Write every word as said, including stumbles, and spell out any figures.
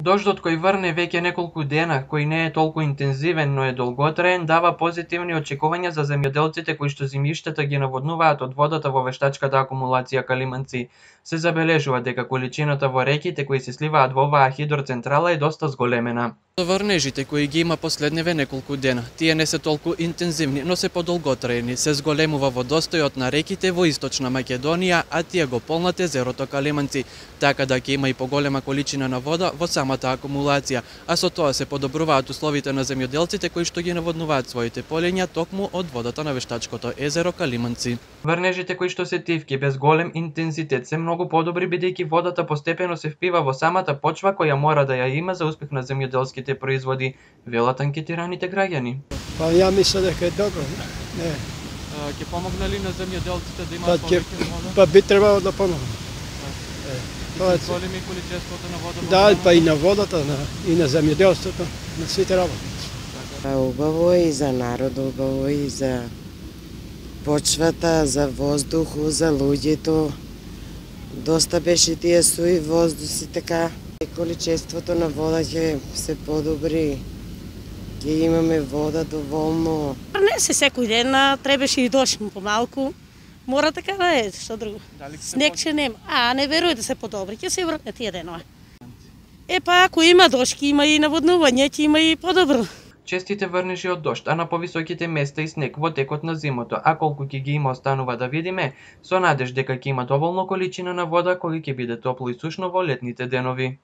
Дождот кој врне веќе неколку дена, кој не е толку интензивен, но е долготраен, дава позитивни очекувања за земјоделците кои што зимиштата ги наводнуваат од водата во вештачката акумулација Калиманци. Се забележува дека количината во реките кои се сливаат во оваа хидроцентрала е доста зголемена. Врнежите кои ги има последниве неколку дена, тие не се толку интензивни, но се подолготраени. Се зголемува водостојот на реките во источна Македонија, а тие го полнат езерото Калиманци, така да ќе има и поголема количина на вода во самата акумулација, а со тоа се подобруваат условите на земјоделците кои што ги наводнуваат своите полиња токму од водата на вештачкото езеро Калиманци. Врнежите кои што се тивки без голем интензитет се многу подобри бидејќи водата постепено се впива во самата почва која мора да ја има за успех на земјоделските производи, велат анкетираните граѓани. Па ја мислам дека е добро. Не. Ќе помогне ли на земјоделците да имаат повеќе вода? Па би требало да помогне. Тоа се големи количеството на вода. Да, па и на водата, на, и на земјоделството, на сите работи. Па убаво е и за народ, убаво и за почвата, за воздуху, за луѓето. Доста беше тие суи воздуси, така. Количеството на вода ќе се подобри. Ќе имаме вода доволно. Не се секој ден, требаше и дожд помалку. Мора така да е, што друго. Снег ќе нема. А, не веруј да се подобри, ќе се врне тие денова. Е па, ако има дожд, има и наводнување, ќе има и подобро. Честите врнежи од дожд, а на повисоките места и снег во текот на зимото, а колку ќе ги има останува да видиме, со надеж дека ќе има доволно количина на вода кој ќе биде топло и сушно во летните денови.